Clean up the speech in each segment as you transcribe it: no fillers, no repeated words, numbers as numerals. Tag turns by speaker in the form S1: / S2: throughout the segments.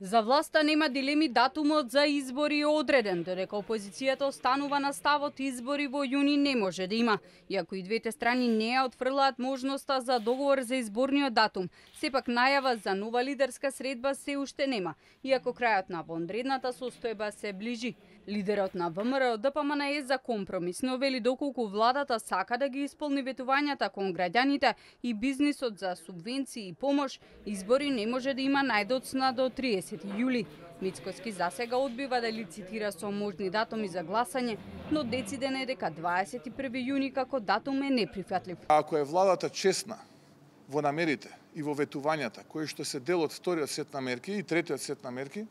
S1: За власта нема дилеми, датумот за избори е одреден, додека опозицијата останува на ставот избори во јуни не може да има. Иако и двете страни не ја отфрлаат можноста за договор за изборниот датум, сепак најава за нова лидерска средба се уште нема, иако крајот на вонредната состојба се ближи. Лидерот на ВМРО ДПМН е за компромис, но вели доколку владата сака да ги исполни ветувањата кон граѓаните и бизнисот за субвенции и помош, избори не може да има најдоцна до 30 јули. Мицкоски засега одбива да лицитира со можни датуми за гласање, но дециден е дека 21 јуни како датум е неприфатлив.
S2: Ако е владата честна во намерите и во ветувањата, кои што се дел од вториот сет на мерки и третиот сет на мерки,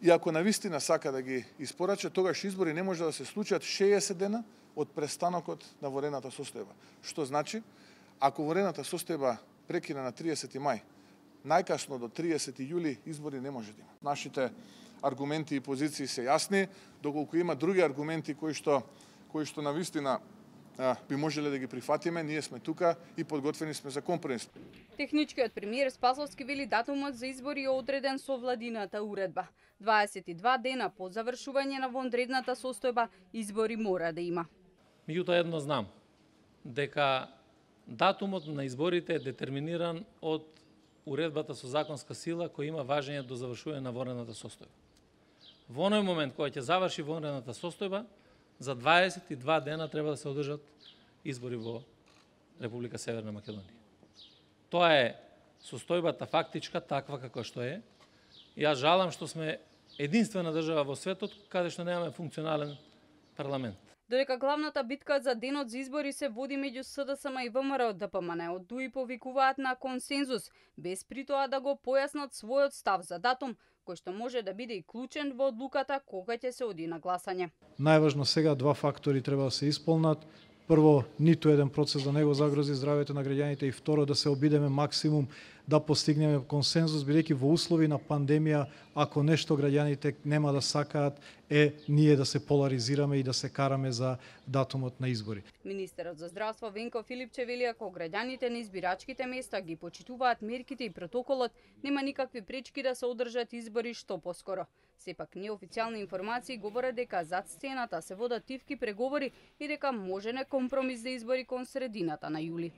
S2: и ако навистина сака да ги испорача, тогаш избори не може да се случат 60 дена од престанокот на вонредната состојба. Што значи, ако вонредната состојба прекина на 30 мај, најкасно до 30 јули избори не може да има. Нашите аргументи и позиции се јасни, доколку има други аргументи кои што навистина би можеле да ги прифатиме, ние сме тука и подготвени сме за компромис.
S1: Техничкиот премиер Спасовски вели датумот за избори е одреден со владината уредба. 22 дена по завршување на вонредната состојба избори мора да има.
S3: Меѓутоа едно знам, дека датумот на изборите е детерминиран од уредбата со законска сила која има важење до завршување на вонредната состојба. Во оној момент кога ќе заврши вонредната состојба, за 22 дена треба да се одржат избори во Република Северна Македонија. Тоа е состојбата фактичка, таква како што е. Јас жалам што сме единствена држава во светот каде што немаме функционален парламент.
S1: Додека главната битка за денот за избори се води меѓу СДСМ и ВМРО ДПМН, од ДУИ повикуваат на консензус, без при тоа да го појаснат својот став за датум, кој што може да биде и клучен во одлуката кога ќе се оди на гласање.
S4: Најважно сега два фактори треба да се исполнат. Прво, ниту еден процес да не го загрози здравјето на граѓаните и второ, да се обидеме максимум да постигнеме консензус, бидејќи во услови на пандемија, ако нешто граѓаните нема да сакаат, е ние да се поларизираме и да се караме за датумот на избори.
S1: Министерот за здравство Венко Филипче вели ако граѓаните на избирачките места ги почитуваат мерките и протоколот, нема никакви пречки да се одржат избори што поскоро. Сепак неофицијални информации говорат дека зад сцената се водат тивки преговори и дека можене компромис за избори кон средината на јули.